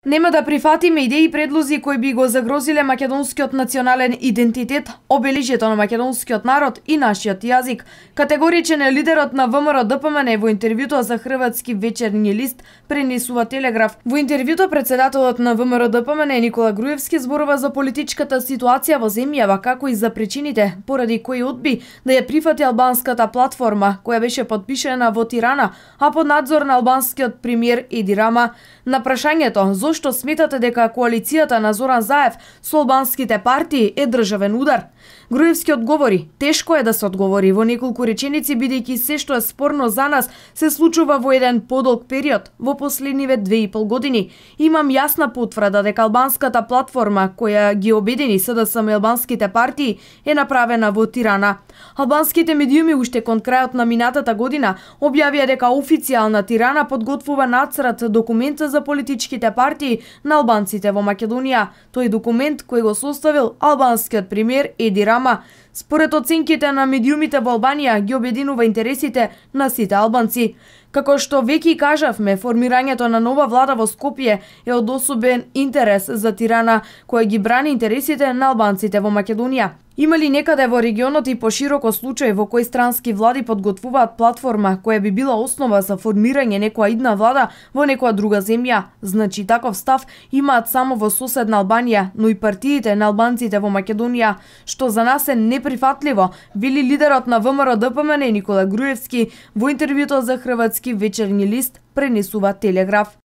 Нема да прифатиме идеи и предлози кои би го загрозиле македонскиот национален идентитет, обележјето на македонскиот народ и нашиот јазик. Категоричен е лидерот на ВМРО-ДПМН во интервјуто за Хрватски вечерни лист, пренесува Телеграф. Во интервјуто председателот на ВМРО-ДПМН Никола Груевски зборува за политичката ситуација во земјава, како и за причините поради кои одби да ја прифати албанската платформа, која беше подпишена во Тирана, а под надзор на албанскиот премиер Еди Рама. На прашањето зошто сметате дека коалицијата на Зоран Заев со албанските партии е државен удар, Груевски одговори: тешко е да се одговори во неколку реченици, бидејќи се што е спорно за нас се случува во еден подолг период, во последниве 2,5 години. Имам јасна потврда дека албанската платформа која ги обедини СДСМ и албанските партии е направена во Тирана. Албанските медиуми уште кон крајот на минатата година објавија дека официјална Тирана подготвува нацрт документ за политичките партии на албанците во Македонија. Тој документ кој го составил албанскиот премиер Еди Рама. Според оценките на медиумите во Албанија ги обединува интересите на сите албанци. Како што веќе кажавме, формирањето на нова влада во Скопје е од особен интерес за Тирана, која ги брани интересите на албанците во Македонија. Има ли некаде во регионот и пошироко случај во кој странски влади подготвуваат платформа која би била основа за формирање некоја идна влада во некоја друга земја? Значи таков став имаат само во соседна Албанија, но и партиите на албанците во Македонија, што за нас е неприфатливо, вели лидерот на ВМРО-ДПМН Никола Груевски во интервјуто за Хрватски вечерни лист, пренесува Телеграф.